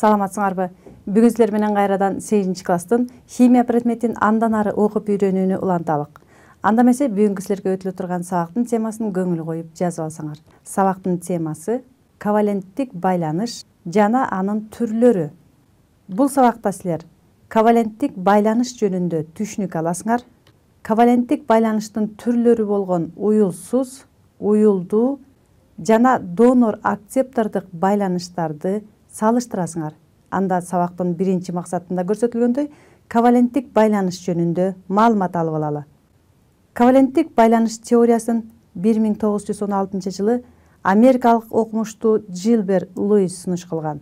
Саламатсыңарбы? Бүгүн силер менен кайрадан 8 класстын химия предметин андан ары окуп үйрөнүүнү уланталык. Анда эмесе бүгүнкү силерге өтүлө турган сабактын темасын көңүл коюп жазып алсаңар. Сабактын темасы коваленттик байланыш жана анын түрлөрү. Бул сабакта силер коваленттик байланыш жөнүндө түшүнүк аласыңар. Коваленттик байланыштын түрлөрү болгон уюлсуз, уюлдуу жана донор акцептордук байланыштарды салыштырасыңар. Анда сабактын биринчи максатында көрсөтүлгөндөй коваленттик байланыш жөнүндө маалымат алып алалы. Коваленттик байланыш теориясын 1916 жылы америкалык окумуштуу Джилбер Луис сунуш кылган.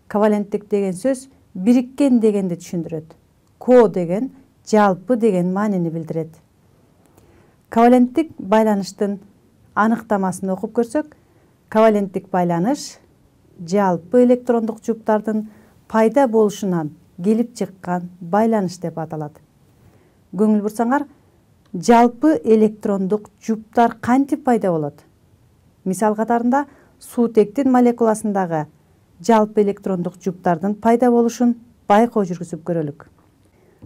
Коваленттик деген сөз бириккен дегенди түшүндүрөт. Ко деген жалпы деген маанини билдирет. Коваленттик байланыштын аныктамасын окуп көрсөк, коваленттик байланыш жалпы электрондук жуптардын пайда болушунан келип чыккан байланыш деп аталат. Көңүл бурсаңар, жалпы электрондук жуптар кантип пайда болот? Мисал катарында суутектин молекуласындагы жалпы электрондук жуптардын пайда болушун байкоо жүргүзүп көрөлүк.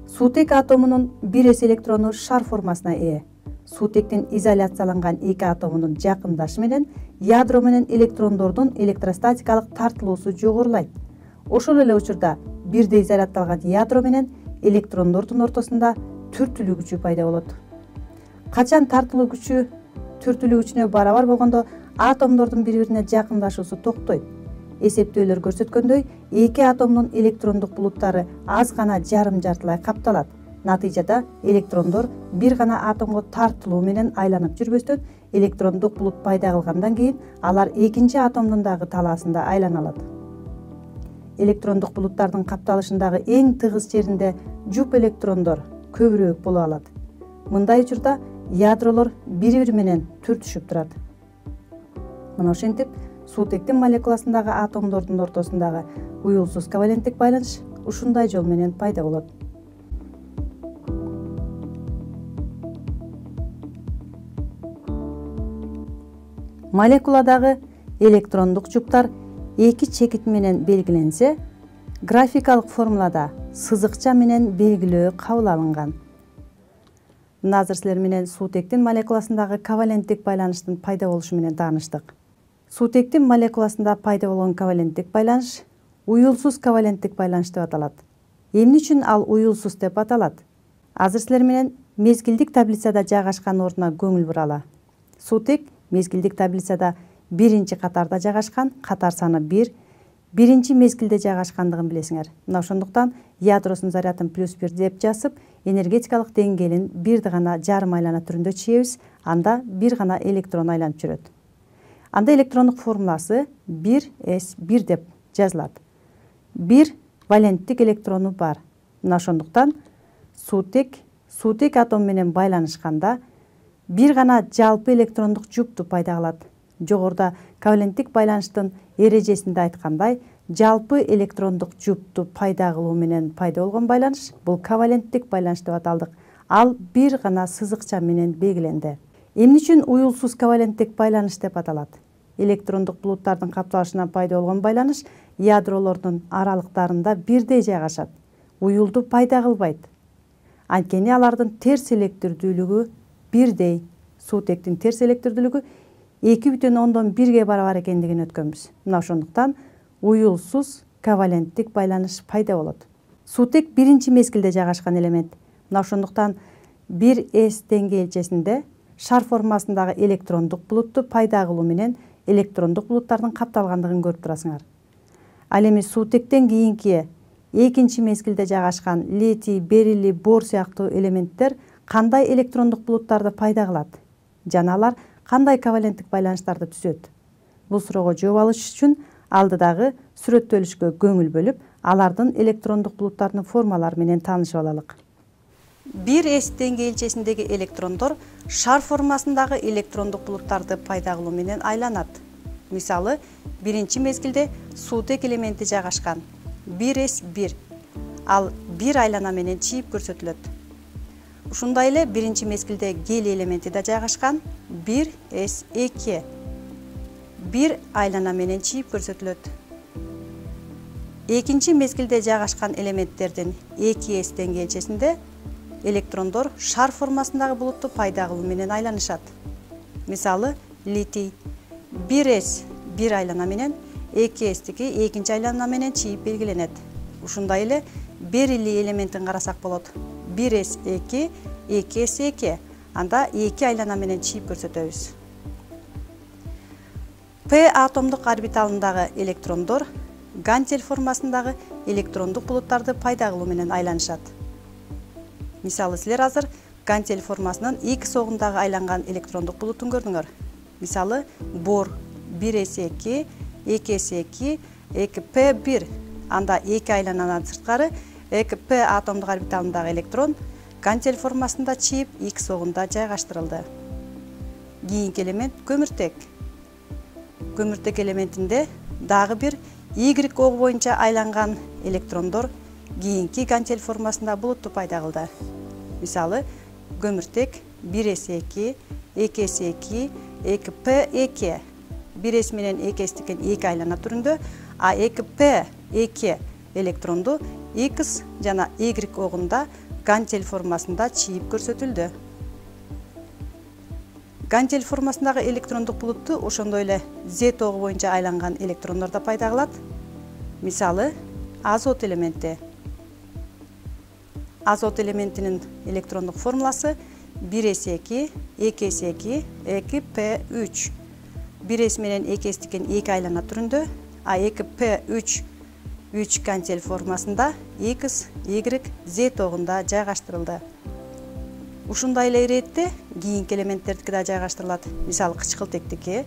Суутек атомунун 1s электрону шар формасына ээ. Суутектин изоляцияланган 2 атомунун жакындашы менен ядро менен электрондордун электростатикалык тартылуусу жогорулайт. Ошол эле учурда бирдей изолятталган ядро менен электрондордун ортосунда түртүлүү күчү пайда болот. Качан тартылуу күчү түртүлүү күчүнө барабар болгондо атомдордун бири-бирине жакындашуусу токтойт. Эсептөөлөр көрсөткөндөй, 2 атомдун электрондук булуттары аз гана жарым-жартылай капталат. Натыйжада электрондор бир гана атомго тартылуу менен айланып жүрбөстөн электрондук булут пайда кылгандан кийин алар экинчи атомдун дагы талаасында айлана алат. Электрондук булуттардын капталышындагы эң тыгыз жеринде жуп электрондор көбүрөөк боло алат. Мындай учурда ядролор бири-бири менен түртүшүп турат. Мына ошентип суутектин молекуласындагы атомдордун ортосундагы уюлсуз коваленттик байланыш ушундай жол менен пайда болот. Молекуладагы электрондук жуптар эки чекит менен белгиленсе, графикалык формулада сызыкча менен белгилөө кабыл алынган. Мына азыр силер менен суутектин молекуласындагы коваленттик байланыштын пайда болушу менен тааныштык. Суутектин молекуласында пайда болгон коваленттик байланыш уюлсуз коваленттик байланыш деп аталат. Эмне үчүн ал уюлсуз деп аталат? Азыр силер менен мезгилдик таблицада жайгашкан ордуна көңүл буралы. Суутек мезгилдик таблицада биринчи катарда жайгашкан, катар саны 1, биринчи мезгилде жайгашкандыгын билесиңер. Мына ошондуктан ядросунун зарядын +1 деп жазып, энергетикалык деңгээлин бирди гана жарым айлана түрүндө чийебиз, анда бир гана электрон айланып жүрөт. Анда электрондук формуласы 1s1 деп жазылат. 1 валенттик электрону бар. Мына ошондуктан суутек атом менен байланышканда бир гана жалпы электрондук жупту пайда кылат. Жогоруда коваленттик байланыштын эрежесинде айткандай, жалпы электрондук жупту пайда кылуу менен пайда болгон байланыш бул коваленттик байланыш деп аталдык. Ал бир гана сызыкча менен белгиленди. Эмне үчүн уюлсуз коваленттик байланыш деп аталат? Электрондук булуттардын капталышынан пайда болгон байланыш ядролордун аралыктарында бирдей жайгашат. Уюлду пайда кылбайт. Анткени алардын терс электирдүүлүгү бирдей. Суутектин терс электирдүүлүгү 2,1 барабар экендигин өткөнбүз. Мына ошондуктан уюлсуз коваленттик байланыш пайда болот. Суутек биринчи мезгилде жайгашкан элемент. Мына ошондуктан 1s деңгээлчесинде шар формасындагы электрондук булутту пайда кылуу менен электрондук булуттардын капталгандыгын көрүп турасыңар. Ал эми суутектен кийинки экинчи мезгилде жайгашкан литий, берилий, бор сыяктуу элементтер кандай электрондук булуттарды пайда кылат? Жана алар кандай коваленттик байланыштарды түзөт? Бул суроого жооп алыш үчүн алдыдагы сүрөттөлүшкө көңүл бөлүп, алардын электрондук булуттарынын формалары менен таанышып алалык. 1s деңгээлчесиндеги электрондор шар формасындагы электрондук булуттарды пайда кылуу менен айланат. Мисалы, биринчи мезгилде суутек элементи жайгашкан 1s1. Ал 1 айлана менен чийип көрсөтүлөт. Ушундай эле биринчи мезгилде гелий элементи да жайгашкан 1s2. 1 айлана менен чийип көрсөтүлөт. экинчи мезгилде жайгашкан элементтердин 2s деңгээлчесинде электрондор шар формасындагы булутту пайда кылуу менен айланышат. Мисалы, литий 1s бир айлана менен 2s-тики экинчи айлана менен чийип белгиленет. Ушундай эле берилий элементин карасак болот. 1s2, 2s2. Анда 2 айлана менен чийип көрсөтөбүз. P атомдук орбиталындагы электрондор гантель формасындагы электрондук булуттарды пайда кылуу менен айланышат. Мисалы, силер азыр гантель формасынын X огундагы айланган электрондук булутун көрдүңөр. Мисалы, бор 1s2, 2s2, 2p1. Анда 2 айлананан сырткары 2p атомдук орбиталындагы электрон гантель формасында чийип X огунда жайгаштырылды. Кийинки элемент көмүртек. Көмүртек элементинде дагы бир Y ого боюнча айланган электрондор кийинки гантель формасында булутту пайда кылды. Мисалы, көмүртек 1s2, 2s2, 2p2. 1s менен 2s-тикен 2 айлана түрүндө, а 2p2 электронду X жана Y огунда гантель формасында чийип көрсөтүлдү. Гантель формасындагы электрондук булутту ошондой эле Z ого боюнча айланган электрондор да пайда кылат. Мисалы, азот элементи. Азот элементинин электрондук формуласы 1s2, 2s2, 2p3. 1s менен 2s-тикен 2 айлана түрүндө, а 2p3 3 гантель формасында X, Y, Z огунда жайгаштырылды. Ушундай эле иретте кийинки элементтердики да жайгаштырылат. Мисалы, кычкылтектики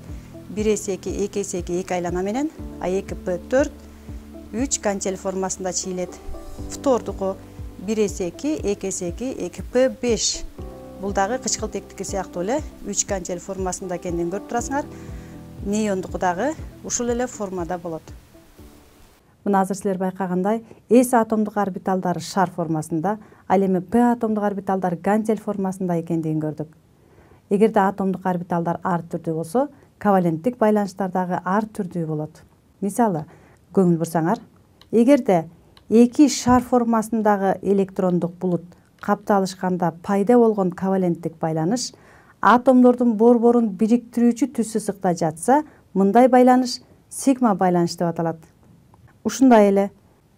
1s2, 2s2 2 айлана менен, а 2p4 3 гантель формасында чийилет. Фтордуку 1s2, 2s2, 2p5. Бул дагы кычкылтектики сыяктуу эле 3 гантель формасында экендигин көрүп турасыңар. Неондуку дагы ушул эле формада болот. Мына азыр силер байкагандай, S атомдук орбиталдары шар формасында, ал эми P атомдук орбиталдар гантель формасында экендигин көрдүк. Эгерде атомдук орбиталдар ар түрдүү болсо, коваленттик байланыштар дагы ар түрдүү болот. Мисалы, көңүл бурсаңар, эгерде эки шар формасындагы электрондук булут капталышканда пайда болгон коваленттик байланыш атомдордун борборун бириктирүүчү түз сызыкта жатса, мындай байланыш сигма байланыш деп аталат. Ушундай эле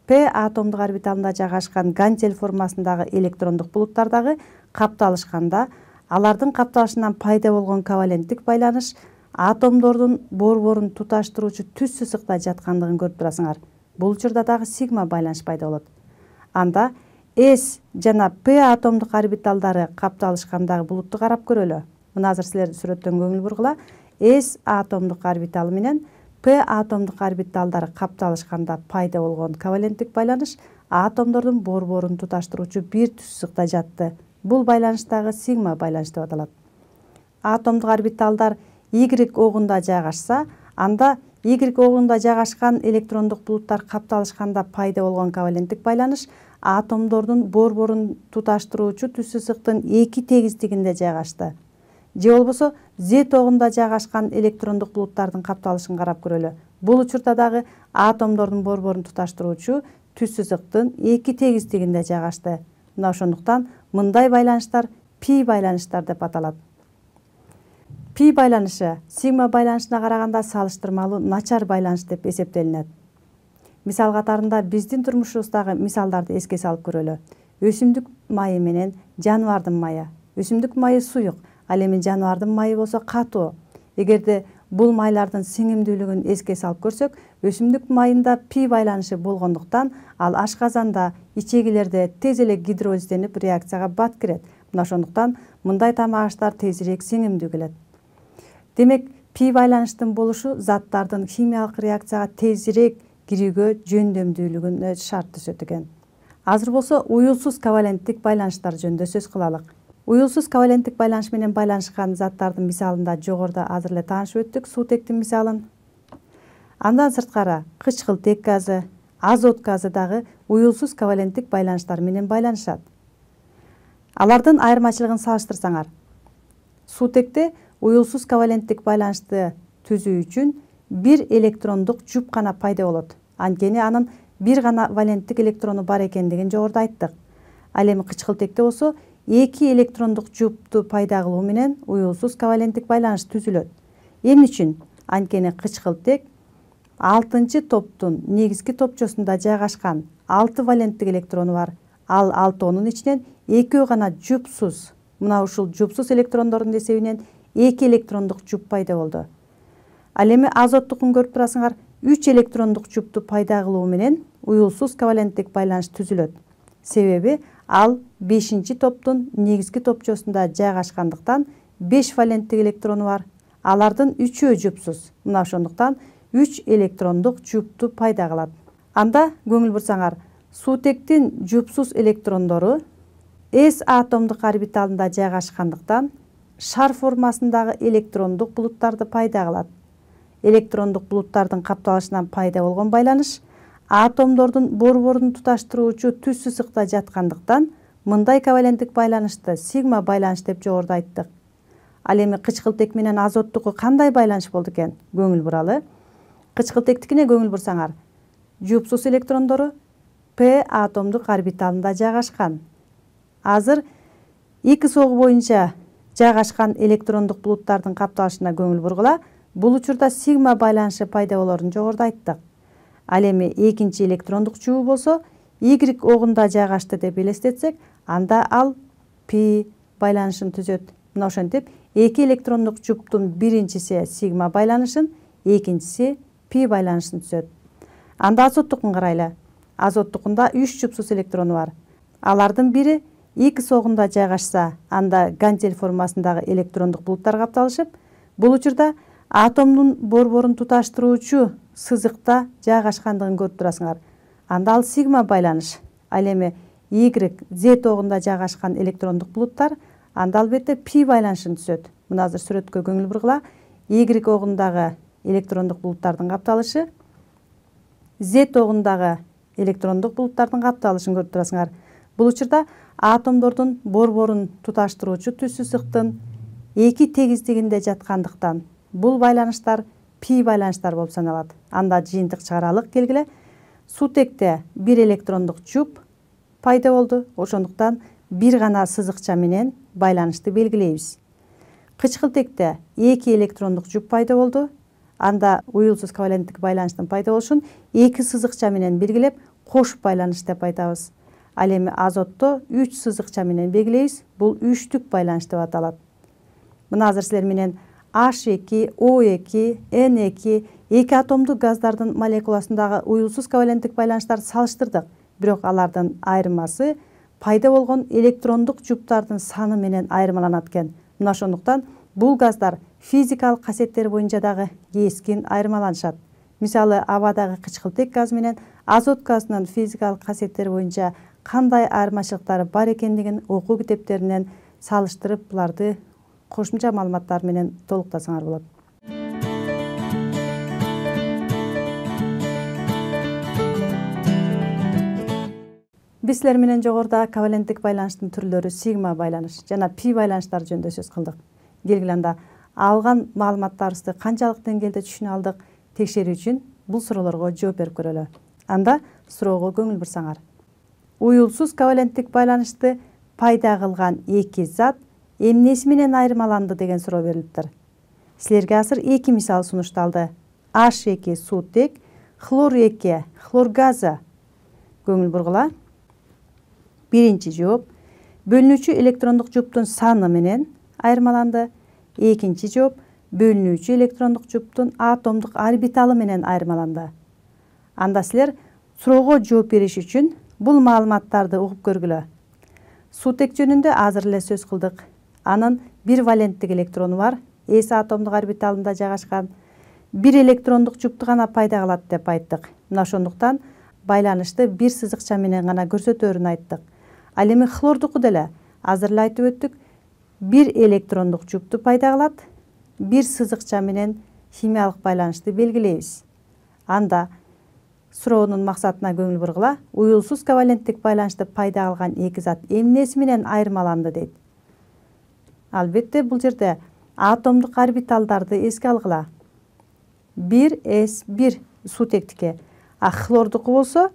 P атомдук орбиталында жайгашкан гантель формасындагы электрондук булуттар дагы капталышканда, алардын капталышынан пайда болгон коваленттик байланыш атомдордун борборун туташтыруучу түз сызыкта жаткандыгын көрүп турасыңар. Бул учурда дагы сигма байланыш пайда болот. Анда S жана P атомдук орбиталдары капталышкандагы булутту карап көрөлү. Мына азыр силер сүрөттөн көңүл бургула. S атомдук орбиталы менен P атомдук орбиталдары капталышканда пайда болгон коваленттик байланыш атомдордун борборун туташтыруучу бир түз сызыкта жатты. Бул байланыш дагы сигма байланыш деп аталат. Атомдук орбиталдар Y огунда жайгашса, анда Y огунда жайгашкан электрондук булуттар капталышканда пайда болгон коваленттик байланыш атомдордун борборун туташтыруучу түз сызыктын эки тегиздигинде жайгашты. Же болбосо Z огунда жайгашкан электрондук булуттардын капталышын карап көрөлү. Бул учурда дагы атомдордун борборун туташтыруучу түз сызыктын эки тегиздигинде жайгашты. Мына ошондуктан мындай байланыштар пи байланыштар деп аталат. Пи байланышы сигма байланышына караганда салыштырмалуу начар байланыш деп эсептелинет. Мисал катарында биздин турмушубуздагы мисалдарды эске салып көрөлү. Өсүмдүк майы менен жаныбардын майы. Өсүмдүк майы суюк, ал эми жаныбардын майы болсо катуу. Эгерде бул майлардын сиңимдүүлүгүн эске салып көрсөк, өсүмдүк майында пи байланышы болгондуктан ал ашказанда, ичегилерде тез эле гидролизденип реакцияга бат кирет. Мына ошондуктан мындай тамак аштар тезирээк сиңимдүү келет. Демек, пи байланыштын болушу заттардын химиялык реакцияга тезирээк кирүүгө жөндөмдүүлүгүнө шарт түзөт экен. Азыр болсо уюлсуз коваленттик байланыштар жөнүндө сөз кылалык. Уюлсуз коваленттик байланыш менен байланышкан заттардын мисалында жогоруда азыр эле таанышып өттүк сутектин мисалын. Андан сырткары кычкылтек газы, азот газы дагы уюлсуз коваленттик байланыштар менен байланышат. Алардын айырмачылыгын салыштырсаңар, сутекте уюлсуз коваленттик байланышты түзүү үчүн бир электрондук жуп гана пайда болот. Анткени анын бир гана валенттик электрону бар экендигин жогоруда айттык. Ал эми кычкылтекте болсо эки электрондук жупту пайда кылуу менен уюлсуз коваленттик байланыш түзүлөт. Эмне үчүн? Анткени кычкылтек 6-чы топтун негизги топчосунда жайгашкан 6 валенттик электрону бар. Ал 6-нун ичинен экөө гана жупсуз. Мына ушул жупсуз электрондордун эсебинен 2 электрондук жуп пайда болду. Ал эми азоттукун көрүп турасыңар, 3 электрондук жупту пайда кылуу менен уюлсуз коваленттик байланыш түзүлөт. Себеби ал 5-чи топтун негизги топчосунда жайгашкандыктан 5 валенттик электрону бар. Алардын 3-өө жупсуз. Мына ошондуктан 3 электрондук жупту пайда кылат. Анда көңүл бурсаңар, суутектин жупсуз электрондору S атомдук орбиталында жайгашкандыктан шар формасындагы электрондук булуттарды пайда кылат. Электрондук булуттардын капталышынан пайда болгон байланыш атомдордун борборун туташтыруучу түз сызыкта жаткандыктан мындай коваленттик байланышты сигма байланыш деп жогоруда айттык. Ал эми кычкылтек менен азоттуку кандай байланыш болду экен? Көңүл буралы. Кычкылтектикине көңүл бурсаңар, жупсуз электрондору P атомдук орбиталында жайгашкан. Азыр эки согу боюнча жайгашкан электрондук булуттардын капталышына көңүл бургула. Бул учурда сигма байланышы пайда болорун жогоруда айттык. Ал эми экинчи электрондук жууу болсо Y огунда жайгашты деп элестетсек, анда ал P байланышын түзөт. Мына ошентип, эки электрондук жуптун биринчиси сигма байланышын, экинчиси P байланышын түзөт. Анда азоттукун карайлы. Азоттукунда 3 жупсуз электрону бар. Алардын бири X огунда жайгашса, анда гантель формасындагы электрондук булуттар капталышып, бул учурда атомдун борборун туташтыруучу сызыкта жайгашкандыгын көрүп турасыңар. Анда ал сигма байланыш. Ал эми Y, Z огунда жайгашкан электрондук булуттар, анда албетте P байланышын түзөт. Мына азыр сүрөткө көңүл бургула. Y огундагы электрондук булуттардын капталышы Z огундагы электрондук булуттардын капталышын көрүп турасыңар. Бул учурда атомдордун борборун туташтыруучу түз сызыктын эки тегиздигинде жаткандыктан бул байланыштар P байланыштар болуп саналат. Анда жыйынтык чыгаралык келгиле. Суутекте бир электрондук жуп пайда болду. Ошондуктан бир гана сызыкча менен байланышты белгилейбиз. Кычкылтекте эки электрондук жуп пайда болду. Анда уюлсуз коваленттик байланыштын пайда болушун эки сызыкча менен белгилеп, кош байланыш деп айтабыз. Ал эми азотто 3 сызыкча менен белгилейбиз. Бул үчтүк байланыш деп аталат. Мына азыр силер менен H2, O2, N2 эки атомдук газдардын молекуласындагы уюлсуз коваленттик байланыштарды салыштырдык. Бирок алардын айырмасы пайда болгон электрондук жуптардын саны менен айырмаланат экен. Мына ошондуктан бул газдар физикалык касиеттери боюнча дагы кескин айырмаланышат. Мисалы, абадагы кычкылтек газ менен азот газынын физикалык касиеттери боюнча кандай айырмачылыктары бар экендигин окуу китептеринен салыштырып, буларды кошумча маалыматтар менен толуктасаңар болот. Биз силер менен жогоруда коваленттик байланыштын түрлөрү сигма байланыш жана P байланыштары жөнүндө сөз кылдык. Келгиле анда алган маалыматтарыбызды канчалык деңгээлде түшүнө алдык текшерүү үчүн бул суроолорго жооп берип көрөлү. Анда суроого көңүл бурсаңар. Уюлсуз коваленттик байланышты пайда кылган эки зат эмнеси менен айырмаланды деген суроо берилиптир. Силерге азыр эки мисал сунушталды. H2 суутек, хлор 2 хлор газы. Көңүл бургула. Биринчи жооп бөлүнүүчү электрондук жуптун саны менен айырмаланды. Экинчи жооп бөлүнүүчү электрондук жуптун атомдук орбиталы менен айырмаланды. Анда силер суроого жооп бериш үчүн бул маалыматтарды угуп көргүлө. Суутек жөнүндө азыр эле сөз кылдык. Анын бир валенттик электрону бар, S атомдук орбиталында жайгашкан. Бир электрондук жупту гана пайда кылат деп айттык. Мына ошондуктан байланышты бир сызыкча менен гана көрсөтөөрүн айттык. Ал эми хлордуку деле азыр эле айтып өттүк. Бир электрондук жупту пайда кылат, бир сызыкча менен химиялык байланышты белгилейбиз. Анда суроонун максатына көңүл бургула. Уюлсуз коваленттик байланышты пайда кылган эки зат эмнеси менен айырмаланды дейт. Албетте бул жерде атомдук орбиталдарды эске алгыла. 1s1 суутектики, а хлордуку болсо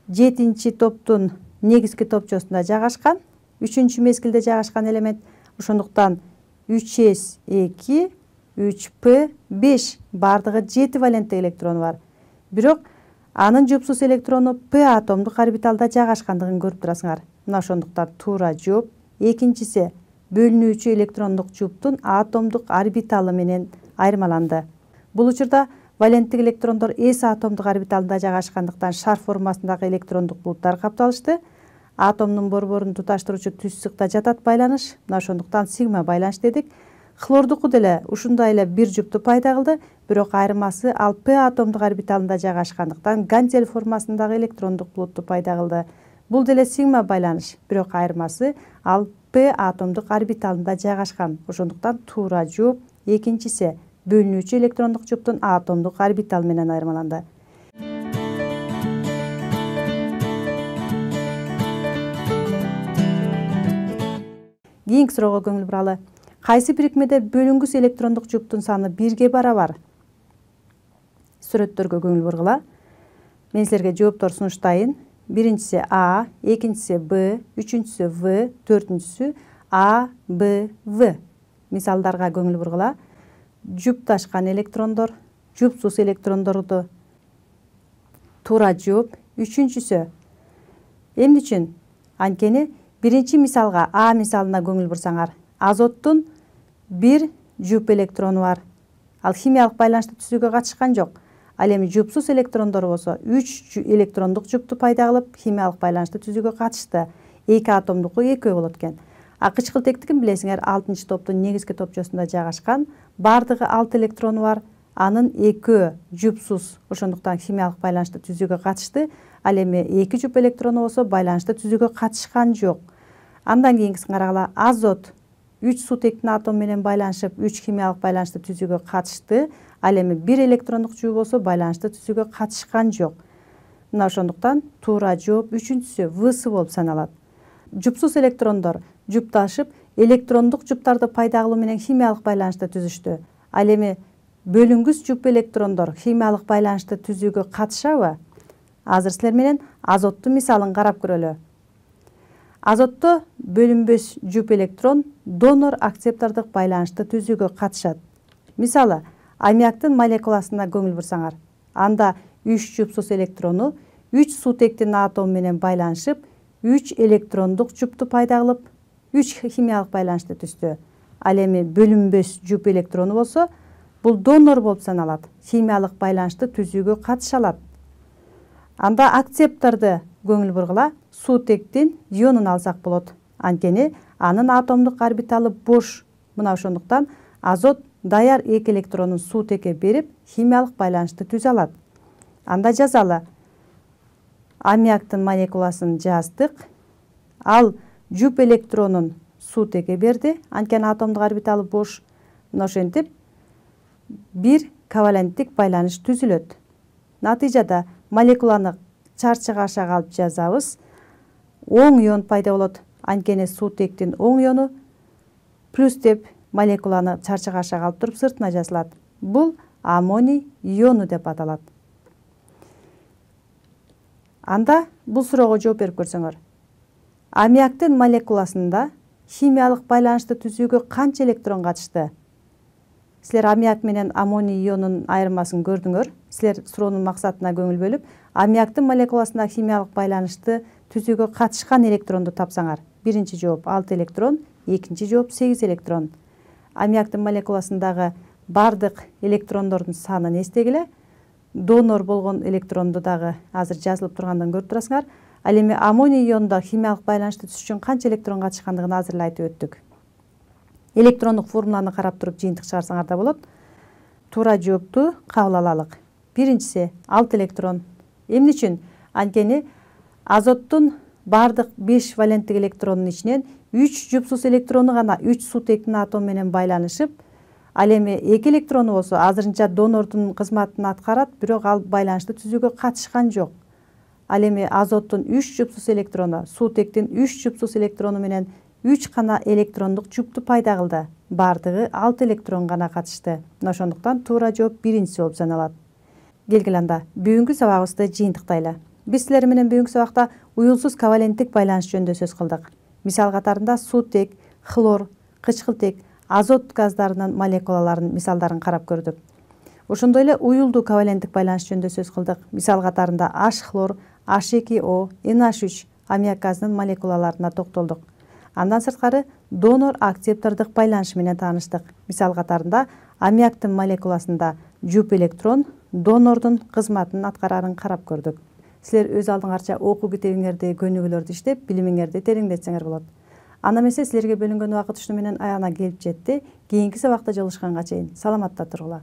7 топтун негизги топчосунда жайгашкан, 3 мезгилде жайгашкан элемент. Ошондуктан 3s2, 3p5 бардыгы 7 валенттик электрону бар. Бирок анын жупсуз электрону p атомдук орбиталда жайгашкандыгын көрүп турасыңар. Мына ошондуктан туура жооп экинчиси бөлүнүүчү электрондук жуптун атомдук орбиталы менен айырмаланды. Бул учурда валенттик электрондор s атомдук орбиталында жайгашкандыктан шар формасындагы электрондук булуттар капталышты. Атомдун борборун туташтыруучу түзсүкта жатат байланыш. Мына ошондуктан сигма байланыш дедик. Хлордуку деле ушундай эле бир жупту пайда кылды, бирок айырмасы ал p атомдук орбиталында жайгашкандыктан гантель формасындагы электрондук булутту пайда кылды. Бул деле сигма байланыш, бирок айырмасы ал p атомдук орбиталында жайгашкан. Ошондуктан туура жооп экинчиси бөлүнүүчү электрондук жуптун атомдук орбитал менен айырмаланды. Кийинки суроого көңүл буралы. Кайсы бирикмеде бөлүнгүс электрондук жуптун саны 1-ге барабар? Сүрөттөргө көңүл бургула. Мен силерге жооптор сунуштайын. Биринчиси А, экинчиси Б, үчүнчүсү В, төртүнчүсү А, Б, В. Мисалдарга көңүл бургула. Жупташкан электрондор, жупсуз электрондорду. Туура жооп үчүнчүсү. Эмне үчүн? Анткени биринчи мисалга А мисалына көңүл бурсаңар, азоттун бир жуп электрону бар. Ал химиялык байланышты түзүүгө катышкан жок. Ал эми жупсуз электрондор болсо 3 электрондук жупту пайда кылып, химиялык байланышты түзүүгө катышты. 2 атомдуку 2 болот экен. А кычкылтектигин билесиңер, 6 топтун негизги топчосунда жайгашкан, бардыгы 6 электрону бар. Анын 2 жупсуз, ошондуктан химиялык байланышты түзүүгө катышты. Ал эми 2 жуп электрону болсо байланышты түзүүгө катышкан жок. Андан кийинкисин карагыла. Азот 3 сутектин атому менен байланышып, 3 химиялык байланышты түзүүгө катышты. Ал эми 1 электрондук жуп болсо байланышты түзүүгө катышкан жок. Мына ошондуктан туура жооп үчүнчүсү Всы болуп саналат. Жупсуз электрондор жупташып, электрондук жуптарды пайда кылуу менен химиялык байланышты түзүштү. Ал эми бөлүнгүс жуп электрондор химиялык байланышты түзүүгө катышабы? Азыр силер менен азоттун мисалын карап көрөлү. Азотто бөлүнбөс жуп электрон донор-акцептордук байланышты түзүүгө катышат. Мисалы, аммиактын молекуласына көңүл бурсаңар. Анда 3 жупсуз электрону 3 сутектин атому менен байланышып, 3 электрондук жупту пайда кылып, 3 химиялык байланышты түздү. Ал эми бөлүнбөс жуп электрону болсо, бул донор болуп саналат. Химиялык байланышты түзүүгө катыша алат. Анда акцепторду көңүл бургула, сутектин ионун алсак болот. Анткени анын атомдук орбиталы бош. Мына ошондуктан азот даяр 2 электронун сутекке берип, химиялык байланышты түзө алат. Анда жазалы. Аммиактын молекуласын жаздык. Ал жуп электронун сутекке берди, анткени атомдук орбиталы бош. Мына ошентип бир коваленттик байланыш түзүлөт. Натыйжада молекуланы чарчыга ашага алып жазабыз. Оң ион пайда болот. Анткени сутектин оң иону плюс деп молекуланы чарчыга ашага алып туруп сыртына жазылат. Бул аммоний иону деп аталат. Анда бул суроого жооп берип көрсөңөр. Аммиактын молекуласында химиялык байланышты түзүүгө канча электрон катышты? Силер аммиак менен аммоний ионунун айырмасын көрдүңөр. Силер суроонун максатына көңүл бөлүп, аммиактын молекуласында химиялык байланышты түзүүгө катышкан электронду тапсаңар. Биринчи жооп 6 электрон, экинчи жооп 8 электрон. Аммиактын молекуласындагы бардык электрондордун санын эстегиле. Донор болгон электронду дагы азыр жазылып тургандан көрүп турасыңар. Ал эми аммоний ионунда химиялык байланышты түзүш үчүн канча электрон катышкандыгын азыр эле айтып өттүк. Электрондук формуланы карап туруп жыйынтык чыгарсаңар да болот. Туура жоопту кабыл алалык. Биринчиси 6 электрон. Эмне үчүн? Анткени азоттун бардык 5 валенттик электронунун ичинен 3 жупсуз электрону гана 3 сутектин атому менен байланышып, ал эми 2 электрону болсо азырынча донордун кызматын аткарат, бирок ал байланышты түзүүгө катышкан жок. Ал эми азоттун 3 жупсуз электрону сутектин 3 жупсуз электрону менен 3 гана электрондук жупту пайда кылды. Бардыгы 6 электрон гана катышты. Мына ошондуктан туура жооп биринчиси болуп саналат. Келгиле анда бүгүнкү сабагыбызды жыйынтыктайлы. Биз силер менен бүгүнкү сабакта уюлсуз коваленттик байланыш жөнүндө сөз кылдык. Мисал катарында суутек, хлор, кычкылтек, азот газдарынын молекулаларынын мисалдарын карап көрдүк. Ошондой эле уюлдуу коваленттик байланыш жөнүндө сөз кылдык. Мисал катарында H-хлор, H2O, NH3 аммиак газынын молекулаларына токтолдук. Андан сырткары донор-акцептордук байланыш менен тааныштык. Мисал катарында аммиактын молекуласында жуп электрон донордун кызматын аткарарын карап көрдүк. Силер өз алдыңарча окуу китебиңерди, көнүгүүлөрдү иштеп, билимиңерди тереңдетсеңер болот. Анда эмесе силерге бөлүнгөн убакыт ушуну менен аягына келип жетти. Кийинки сабакта жолугушканга чейин саламатта тургула.